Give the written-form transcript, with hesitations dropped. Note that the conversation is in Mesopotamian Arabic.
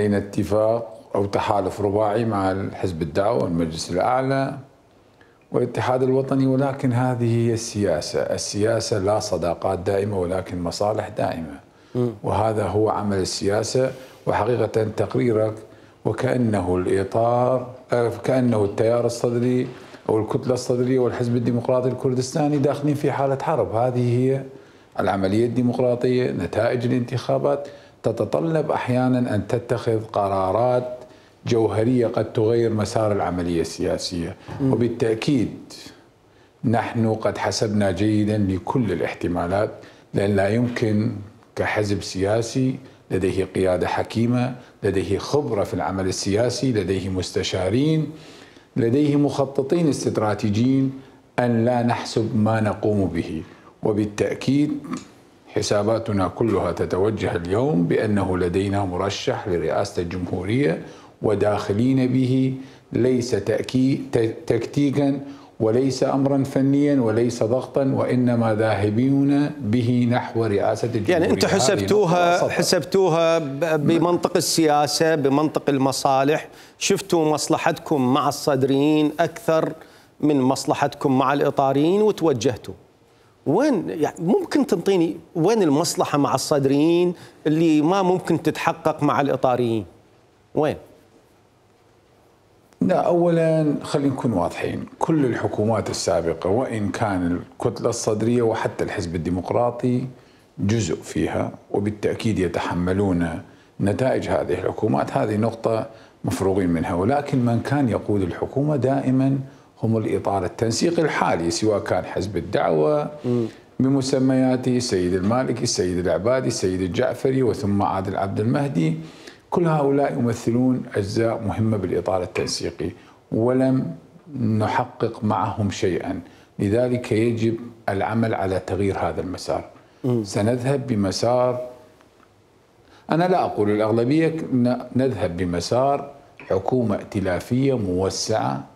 بين اتفاق أو تحالف رباعي مع الحزب الدعوة والمجلس الأعلى والاتحاد الوطني، ولكن هذه هي السياسة. السياسة لا صداقات دائمة ولكن مصالح دائمة، وهذا هو عمل السياسة. وحقيقة تقريرك وكأنه الإطار، كأنه التيار الصدري أو الكتلة الصدرية والحزب الديمقراطي الكردستاني داخلين في حالة حرب. هذه هي العملية الديمقراطية. نتائج الانتخابات تتطلب أحيانا أن تتخذ قرارات جوهرية قد تغير مسار العملية السياسية، وبالتأكيد نحن قد حسبنا جيدا لكل الاحتمالات، لأن لا يمكن كحزب سياسي لديه قيادة حكيمة، لديه خبرة في العمل السياسي، لديه مستشارين، لديه مخططين استراتيجيين، أن لا نحسب ما نقوم به. وبالتأكيد حساباتنا كلها تتوجه اليوم بأنه لدينا مرشح لرئاسة الجمهورية وداخلين به، ليس تكتيكا وليس أمرا فنيا وليس ضغطا، وإنما ذاهبون به نحو رئاسة الجمهورية. يعني أنتم حسبتوها بمنطق السياسة، بمنطق المصالح، شفتوا مصلحتكم مع الصدريين أكثر من مصلحتكم مع الإطاريين وتوجهتوا. وين يعني ممكن تنطيني وين المصلحة مع الصدريين اللي ما ممكن تتحقق مع الإطاريين؟ وين؟ لا، أولا خلينا نكون واضحين، كل الحكومات السابقة وإن كان الكتلة الصدرية وحتى الحزب الديمقراطي جزء فيها، وبالتأكيد يتحملون نتائج هذه الحكومات، هذه نقطة مفروغين منها. ولكن من كان يقود الحكومة دائما هم الإطار التنسيقي الحالي، سواء كان حزب الدعوة بمسمياته، السيد المالكي، السيد العبادي، السيد الجعفري، وثم عادل عبد المهدي. كل هؤلاء يمثلون أجزاء مهمة بالإطار التنسيقي، ولم نحقق معهم شيئا. لذلك يجب العمل على تغيير هذا المسار. سنذهب بمسار، أنا لا أقول الأغلبية، نذهب بمسار حكومة ائتلافية موسعة